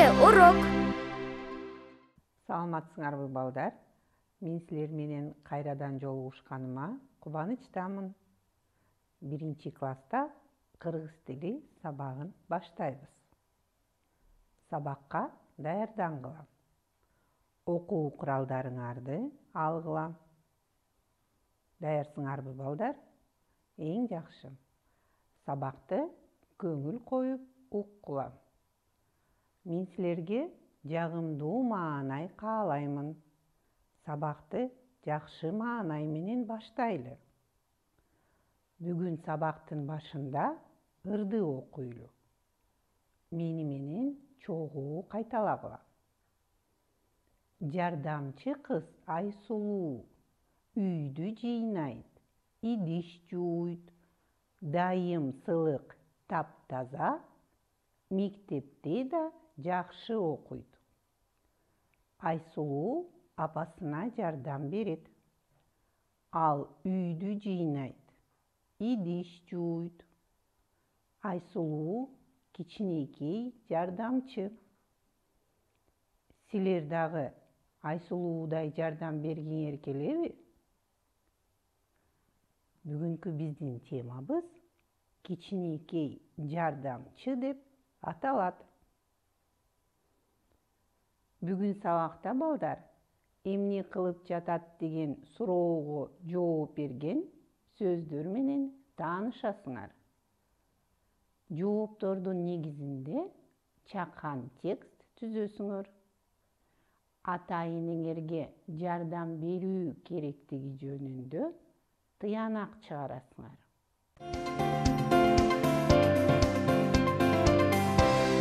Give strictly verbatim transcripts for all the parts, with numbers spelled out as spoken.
Телеурок. Саламатсыңарбы балдар? Мен силер менен кайрадан жолугушканыма кубанычтамын. Биринчи класста кыргыз тили сабагын баштайбыз. Сабакка даярдангыла. Окуу куралдарыңарды алгыла. Даярсыңарбы балдар? Эң жакшы. Сабакты көңүл коюп уккула. Мен силерге жагымдуу маанай каалаймын. Сабакты жакшы маанай менен баштайлы. Бүгүн сабактын башында ырды окуйлу. Мени менен чогуу кайталагыла. Жардамчы кыз Айсулуу үйдү жыйнайт, идиш жууйт, дайым сылык таптаза, мектепте да жакшы окуйт. Айсулуу апасына жардам берет. Ал үйдү жыйнайт, идиш жууйт. Айсулуу кичинекей жардамчы. Силер дагы Айсулуудай жардам бергиңер келеби? Бүгүнкү биздин темабыз кичинекей жардамчы деп аталат. Бүгүн сабакта балдар эмне кылып жатат деген суроого жооп берген сөздөр менен таанышасыңар. Жооптордун негизинде чакан текст түзөсүңөр. Ата-энеңерге жардам берүү керектиги жөнүндө тыянак чыгарасыңар.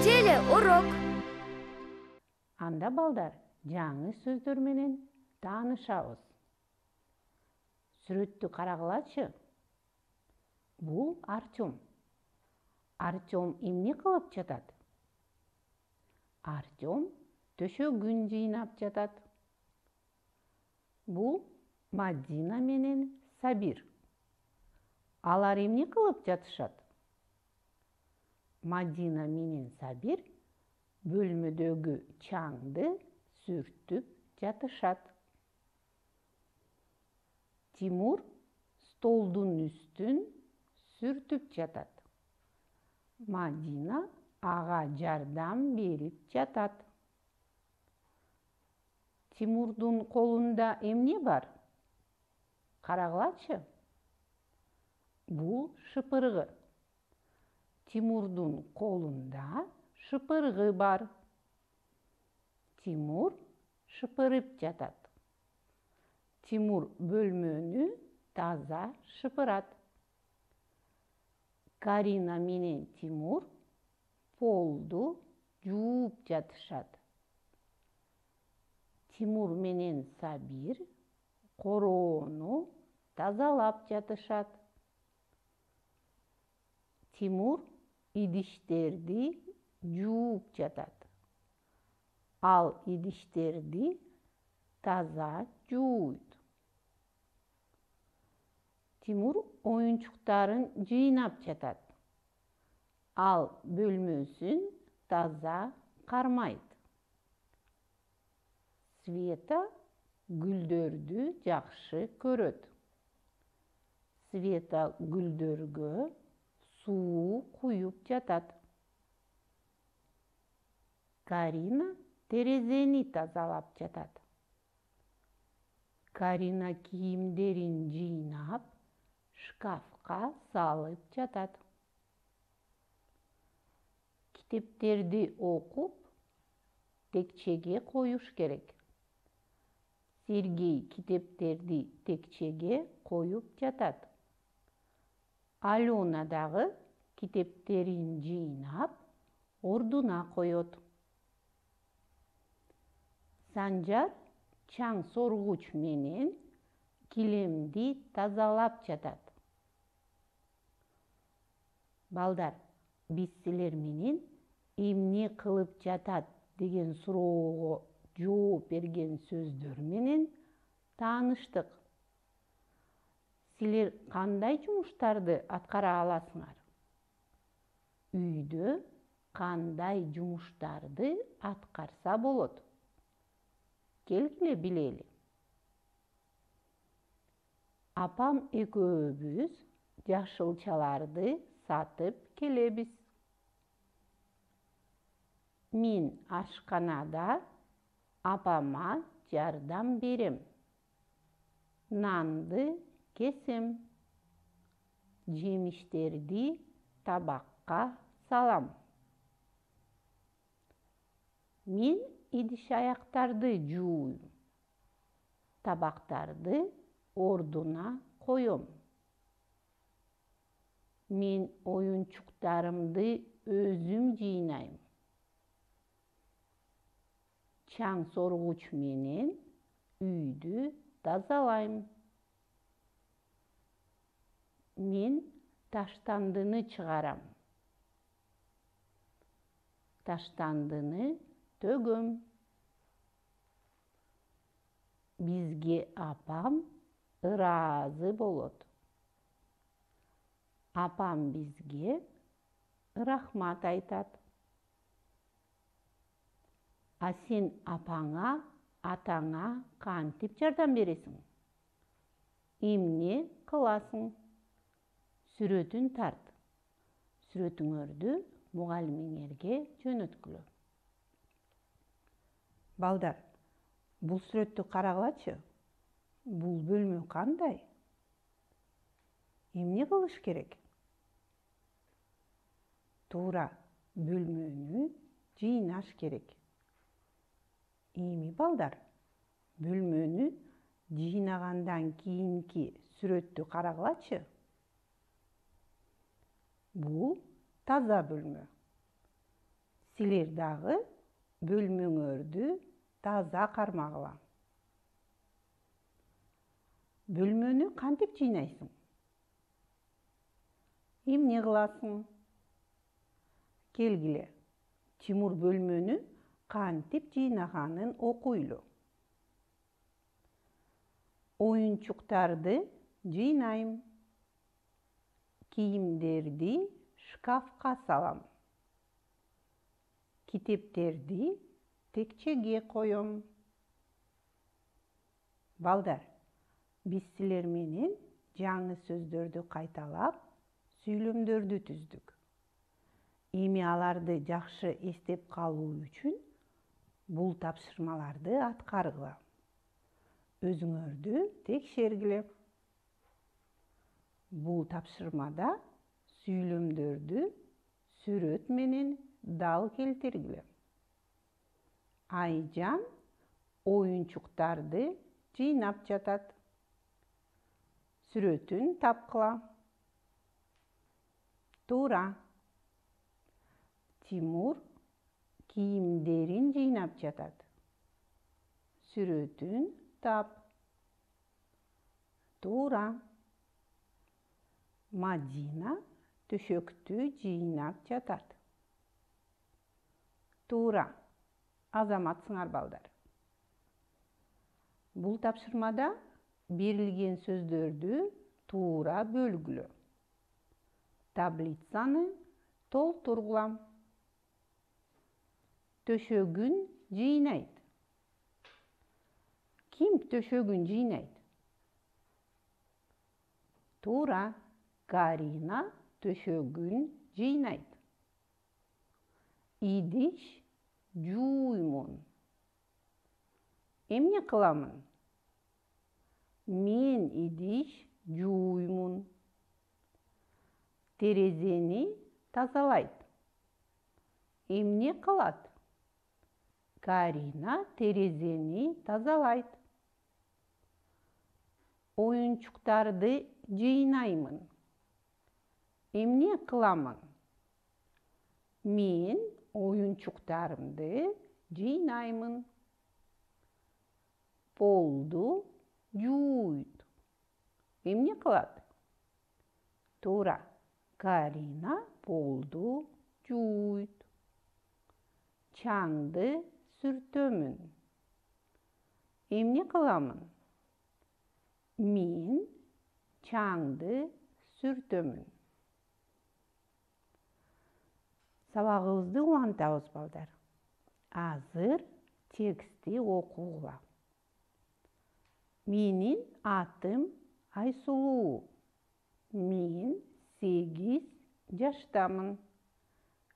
Телеурок. Анда балдар жаңы сөздөр менен таанышабыз. Сүрөттү карагылачы. Бул Артем. Артем эмне кылып жатат? Артем төшөгүн жыйнап жатат. Бул Мадина менен Сабир. Алар эмне кылып жатышат? Мадина менен Сабир бөлмөдөгү чаңды сүртүп жатышат. Тимур столдун үстүн сүртүп жатат. Мадина ага жардам берип жатат. Тимурдун колунда эмне бар? Карагылачы. Бул шыпыргы. Тимурдун колунда шыпыргы бар. Тимур шыпырып жатат. Тимур бөлмөнү таза шыпырат. Карина менен Тимур полду жууп жатышат. Тимур менен Сабир короону тазалап жатышат. Тимур идиштерди жууп жатат. Ал идиштерди таза жууйт. Тимур оюнчуктарын жыйнап жатат. Ал бөлмөсүн таза кармайт. Света гүлдөрдү жакшы көрөт. Света гүлдөргө суу куюп жатат. Карина терезени тазалап жатат. Карина кийимдерин жыйнап, шкафка салып жатат. Китептерди окуп, текчеге коюш керек. Сергей китептерди текчеге коюп жатат. Алена дагы китептерин жыйнап, ордуна коет. Санжар чаң соргуч менен килемди тазалап жатат. Балдар, биз силер менен эмне кылып жатат деген суроого жооп берген сөздөр менен тааныштык. Силер кандай жумуштарды аткара аласыңар? Үйдө кандай жумуштарды аткарса болот? Келгиле билели. Апам экөөбүз жашылчаларды сатып келебиз. Мен ашканада апама жардам берем. Нанды кесем. Жемиштерди табакка салам. Мен идиш-аяктарды жууйм. Табактарды ордуна коем. Мен оюнчуктарымды өзүм жыйнайм. Чаң соргуч менен үйдү тазалайм. Мен таштандыны чыгарам. Таштандыны төгөм. Бизге апам ыраазы болот. Апам бизге рахмат айтат. А сен апаңа, атаңа кантип жардам бересиң? Эмне кыласың? Сүрөтүн тарт. Сүрөтүңөрдү мугалимиңерге жөнөткүлө. Балдар, бул сүрөттү карагылачы. Бул бөлмө кандай? Эмне кылыш керек? Туура, бөлмөнү жыйнаш керек. Эми балдар, бөлмөнү жыйнагандан кийинки сүрөттү карагылачы. Бул таза бөлмө. Силер дагы бөлмөңөрдү таза кармагыла. Бөлмөнү кантип жыйнайсың? Эмне кыласың? Келгиле, Тимур бөлмөнү кантип жыйнаганын окуйлу. Оюнчуктарды жыйнайм. Кийимдерди шкафка салам. Китептерди текчеге коем. Балдар, биз силер менен жаңы сөздөрдү кайталап, сүйлөмдөрдү түздүк. Эми аларды жакшы эстеп калуу үчүн бул тапшырмаларды аткаргыла. Өзүңөрдү текшергиле. Бул тапшырмада сүйлөмдөрдү сүрөт менен дал келтиргиле. Айжан оюнчуктарды жыйнап жатат. Сүрөтүн тапкыла. Туура. Тимур кийимдерин жыйнап жатат. Сүрөтүн тап. Туура. Мадина төшөктү жыйнап жатат. Туура. Азаматсыңар балдар. Бул тапшырмада берилген сөздөрдү туура бөлгүлө. Таблицаны толтургула. Төшөгүн жыйнайт. Ким төшөгүн жыйнайт? Туура, Карина төшөгүн жыйнайт. Идиш жууймун. Эмне кыламын? Мен идиш жууймун. Терезени тазалайт. Эмне кылат? Карина терезени тазалайт. Оюнчуктарды жыйнаймын. Эмне кыламын? Мен оюнчуктарымды жыйнаймын. Полду жууйт. Эмне кылат? Туура, Карина полду жууйт. Чаңды сүртөмүн. Эмне кыламын? Мен чаңды сүртөмүн. Сабагыбызды улантабыз балдар. Азыр текстти окугула. Менин атым Айсулуу. Мен сегиз жаштамын.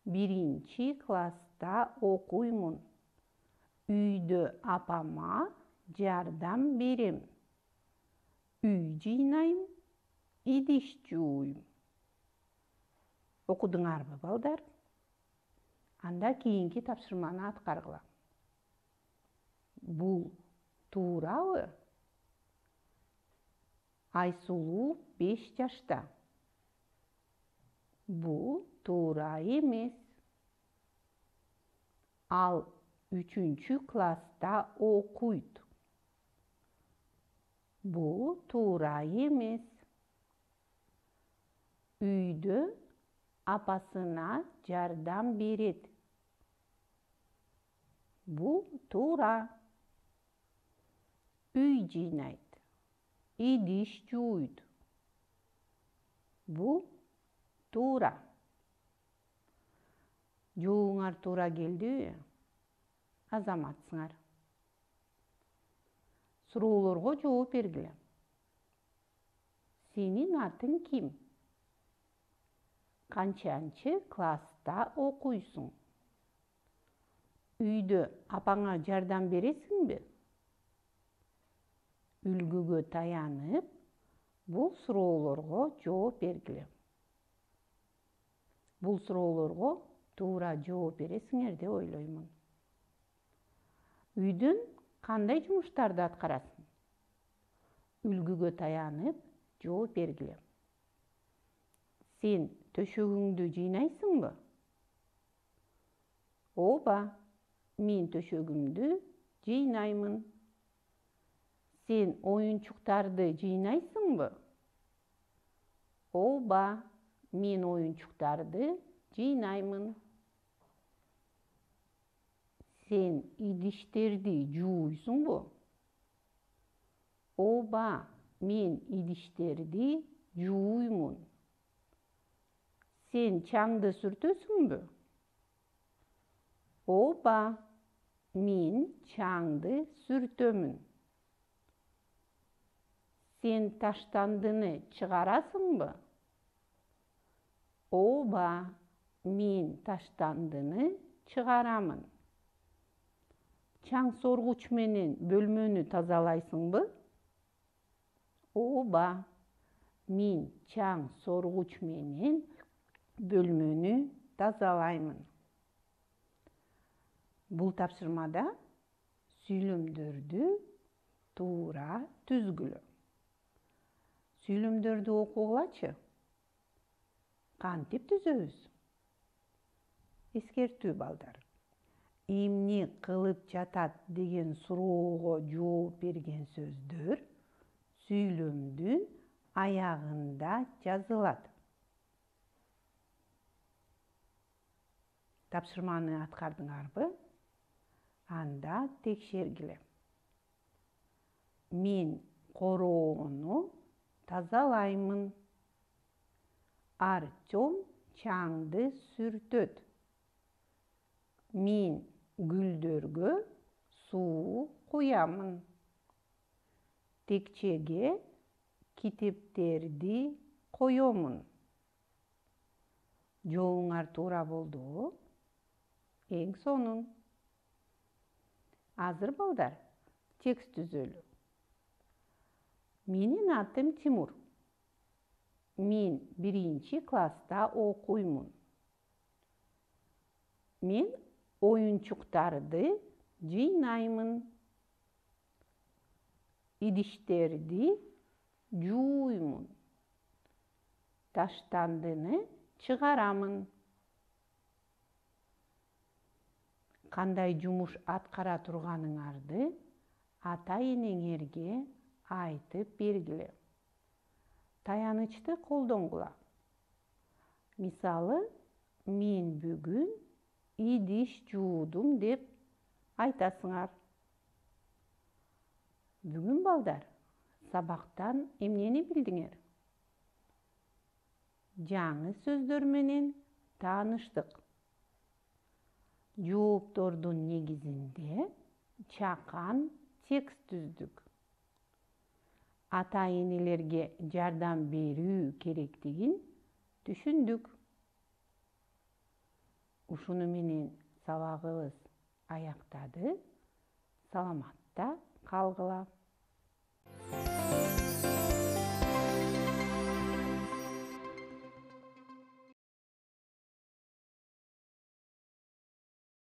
Биринчи класста окуймун. Үйдө апама жардам берем. Үй жыйнайм, идиш жууйм. Окудуңарбы, балдар? Анда кийинки тапшырманы аткаргыла. Бул туурабы? Айсулуу беш жашта. Бул туура эмес. Ал үчүнчү класста окуйт. Бул туура эмес. Үйдө апасына жардам берет. Бул туура. Үй жыйнайт, идиш жууйт. Бул туура. Жообуңар туура келдиби? Азаматсыңар. Суроолорго жооп бергиле. Сенин атың ким? Канчанчы класста окуйсуң? Үйдө апаңа жардам бересиңби? Үлгүгө таянып, бул суроолорго жооп бергиле. Бул суроолорго туура жооп бересиңер деп ойлоймун. Үйдүн кандай жумуштарды аткарасың? Үлгүгө таянып, жооп бергиле. Сен төшөгүңдү жыйнайсыңбы? Ооба, мен төшөгүмдү жыйнаймын. Сен оюнчуктарды жыйнайсыңбы? Ооба, мен оюнчуктарды жыйнаймын. Сен идиштерди жууйсуңбу? Ооба, мен идиштерди жууймун. Сен чаңды сүртөсүңбү? Ооба, мен чаңды сүртөмүн. Сен таштандыны чыгарасыңбы? Ооба, мен таштандыны чыгарамын. Чаң соргуч менен бөлмөнү тазалайсыңбы? Ооба, мен чаң соргуч менен бөлмөнү тазалаймын. Бул тапшырмада сүйлөмдөрдү туура түзгүлө. Сүйлөмдөрдү окугулачы. Кантип түзөбүз? Эскертүү, балдар. Эмне кылып жатат деген суроого жооп берген сөздөр сүйлөмдүн аягында жазылат. Тапшырманы аткардыңарбы? Анда текшергиле. Мен короону тазалаймын. Артём чаңды сүртөт. Мен гүлдөргө суу куямын. Текчеге китептерди коёмун. Жообуңар туура болдубу? Эң сонун. Азыр, балдар, текст түзөлү. Менин атым Тимур. Мен биринчи класста окуймун. Мен оюнчуктарды жыйнаймын. Идиштерди жууймун. Таштандыны чыгарамын. Кандай жумуш аткара турганыңарды ата-энеңерге айтып бергиле. Таянычты колдонгула. Мисалы, мен бүгүн идиш жуудум деп айтасыңар. Бүгүн, балдар, сабактан эмнени билдиңер? Жаңы сөздөр менен тааныштык. жооптордун негизинде чакан текст түздүк. Ата-энелерге жардам берүү керектигин түшүндүк. Ушуну менен сабагыбыз аяктады. Саламатта калгыла.